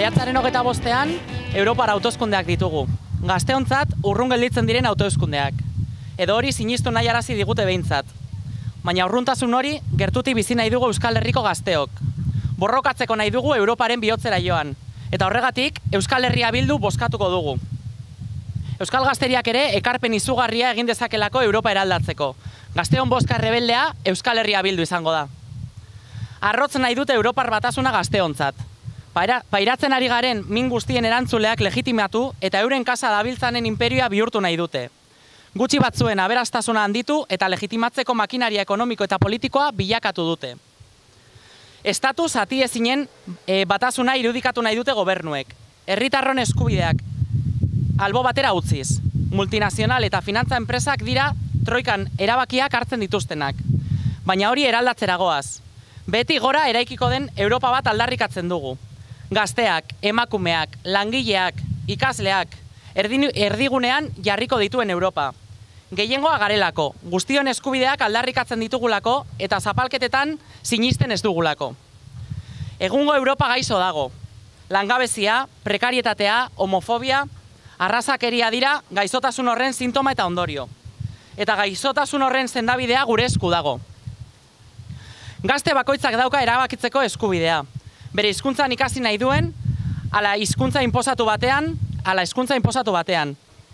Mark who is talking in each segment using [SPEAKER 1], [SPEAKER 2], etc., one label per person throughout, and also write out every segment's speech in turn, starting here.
[SPEAKER 1] Maiatzaren 25ean, Europar hauteskundeak ditugu. Gazteontzat urrun gelditzen diren hauteskundeak. Edo hori sinistu nahi arazi digute behintzat. Baina urruntasun hori gertutik bizi nahi dugu Euskal Herriko gazteok. Borrokatzeko nahi dugu Europaren bihotzera joan. Eta horregatik, Euskal Herria Bildu bozkatuko dugu. Euskal Gazteriak ere ekarpen izugarria egin dezakelako Europa eraldatzeko. Gazteon bozka errebeldea Euskal Herria Bildu izango da. Arrotz nahi dute Europar batasuna gazteontzat. Pairatzen ari garen min guztien erantzuleak legitimatu eta euren kasa dabiltzanen imperioa bihurtu nahi dute. Gutxi batzuen aberastasuna handitu eta legitimatzeko makinaria ekonomiko eta politikoa bilakatu dute. Estatu zati ezinen batasuna irudikatu nahi dute gobernuek. Herritarron eskubideak albo batera utziz. Multinazional eta finantza enpresak dira troikan erabakiak hartzen dituztenak. Baina hori eraldatzera goaz. Beti gora eraikiko den Europa bat aldarrikatzen dugu. Gazteak, emakumeak, langileak, ikasleak, erdigunean jarriko dituen Europa. Gehiengoa garelako, guztion eskubideak aldarrikatzen ditugulako eta zapalketetan sinisten ez dugulako. Egungo Europa gaixo dago. Langabezia, prekarietatea, homofobia, arrazakeria dira gaixotasun horren sintoma eta ondorio. Eta gaixotasun horren sendabidea gure esku dago. Gazte bakoitzak dauka erabakitzeko eskubidea. Bere hizkuntzan ikasi nahi duen, ala hizkuntza inposatu batean.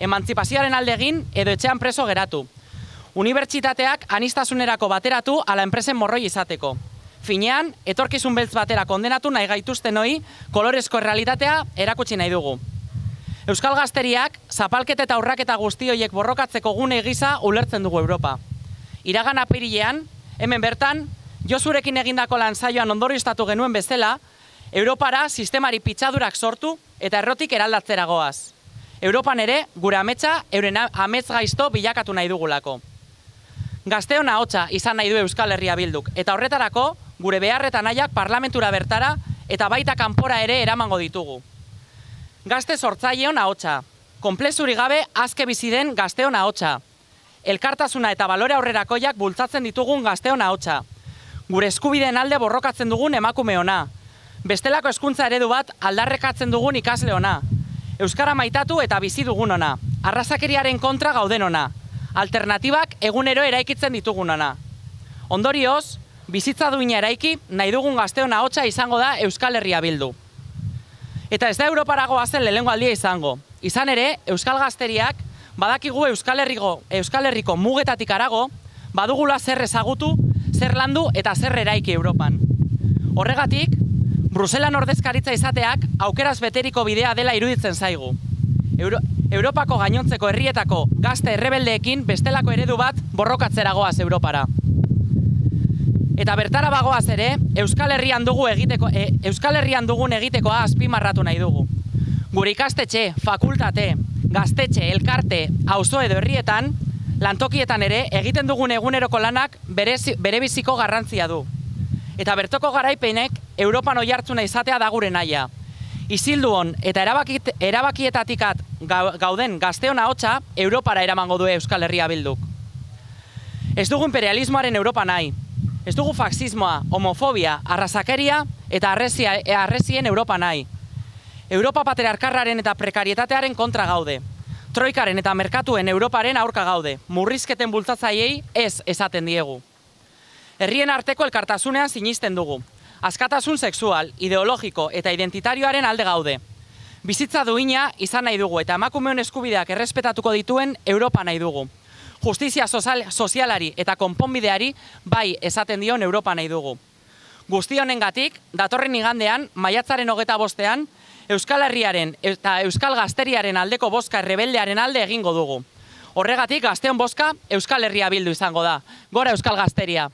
[SPEAKER 1] Emantzipazioaren alde egin edo etxean preso geratu. Unibertsitateak aniztasunerako bateratu ala enpresen morroi izateko. Finean, etorkizun beltz batera kondenatu nahi gaituzten hori kolorezko errealitatea erakutsi nahi dugu. Euskal Gazteriak zapalketa eta urraketa guzti horiek borrokatzeko gune gisa ulertzen dugu Europa. Iragan apirilean, hemen bertan, Josurekin egindako lan saioan ondorioztatu genuen bezala, Europara sistemari pitzadurak sortu eta errotik eraldatzera goaz. Europan ere, gure ametsa, euren amets gaizto bilakatu nahi dugulako. Gazteon ahotsa izan nahi du Euskal Herria Bilduk, eta horretarako, gure beharretan nahiak parlamentura bertara eta baita kanpora ere eramango ditugu. Gazte sortzaileon ahotsa, konplexurik gabe azke bizi den gazteon ahotsa. Elkartasuna eta balore aurrerakoiak bultzatzen ditugun gazteon ahotsa. Gure eskubideen alde borrokatzen dugun emakume ona. Bestelako hezkuntza eredu bat aldarrekatzen dugun ikasle ona. Euskara maitatu eta bizi dugun ona. Arrazakeriaren kontra gauden ona. Alternatibak egunero eraikitzen ditugun ona. Ondorioz, bizitza duina eraiki nahi dugun gazteon ahotsa izango da Euskal Herria Bildu. Eta ez da Europarago azen lehengo aldia izango. Izan ere, Euskal Gazteriak badakigu Euskal Herriko mugetatik harago, badugula zer ezagutu, zer landu eta zer eraiki Europan. Horregatik, Bruselan ordezkaritza izateak aukeraz beteriko bidea dela iruditzen zaigu. Europako gainontzeko herrietako gazte errebeldeekin bestelako eredu bat borrokatzera goaz Europara. Eta bertara bagoaz ere, Euskal Herrian dugun egitekoa azpimarratu nahi dugu. Gure ikastetxe, fakultate, gaztetxe, elkarte, auzo edo herrietan, lantokietan ere egiten dugun eguneroko lanak berebiziko garrantzia du. Eta bertoko garaipenek Europan oihartzuna izatea da gure nahia. Isilduon eta erabakietatikat gauden gazteon ahotsa Europara eramango du Euskal Herria Bilduk. Ez dugu imperialismoaren Europa nahi. Ez dugu faxismoa, homofobia, arrazakeria eta arrezien Europa nahi. Europa patriarkarraren eta prekarietatearen kontra gaude. Troikaren eta merkatuen Europaren aurka gaude. Murrizketen bultzatzaileei ez esaten diegu. Herrien arteko elkartasunean sinisten dugu. Askatasun sexual, ideologiko eta identitarioaren alde gaude. Bizitza duina izan nahi dugu eta emakumeon eskubideak errespetatuko dituen Europa nahi dugu. Justizia sozialari eta konponbideari bai esaten dion Europa nahi dugu. Guzti honengatik, datorren igandean, maiatzaren 25ean, Euskal Herriaren eta Euskal Gazteriaren aldeko bozka errebeldearen alde egingo dugu. Horregatik, gazteon bozka Euskal Herria Bildu izango da. Gora Euskal Gazteria!